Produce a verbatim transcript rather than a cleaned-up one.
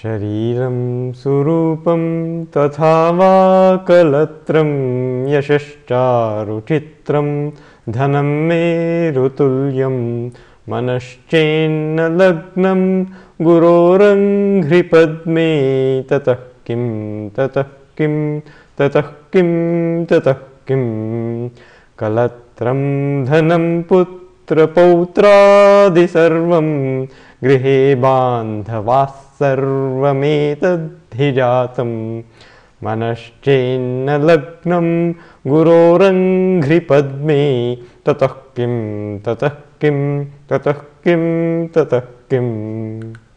शरीरं सुरूपं तथा वा कलत्रं यशश्चारुचित्रं धनं मेरुतुल्यं मनश्चेन्न लग्नं गुरोरङ्घ्रिपद्मे ततः किं ततः किं ततः किं ततः किं कलत्रं धनं पुत्रपौत्रादि सर्वं गृहे बान्धवाः सर्वमेतद्धि जातं मनश्चेन्न लग्नं गुरोरङ्घ्रिपद्मे ततः किं ततः किं ततः किं ततः किम्।